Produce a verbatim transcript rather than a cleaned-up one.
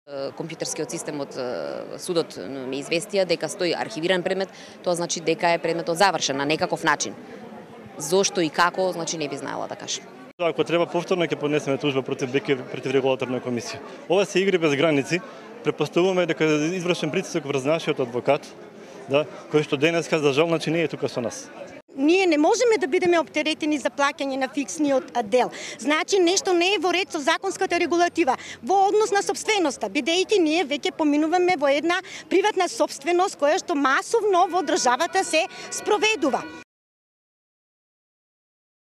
Компјутерскиот систем од судот ме известија дека стои архивиран предмет, тоа значи дека е предметот завршен на некаков начин. Зошто и како, значи не би знаела да кажам. Ако треба повторно ќе поднесеме тужба против БЕК против регулаторна комисија. Ова се игри без граници. Препоставуваме дека е извршен притисок врз нашиот адвокат, да, кој што денеска за жал значи не е тука со нас. Ние не можеме да бидеме оптеретени за плаќање на фиксниот дел. Значи нешто не е во ред со законската регулатива во однос на сопственоста, бидејќи ние веќе поминуваме во една приватна сопственост која што масовно во државата се спроведува.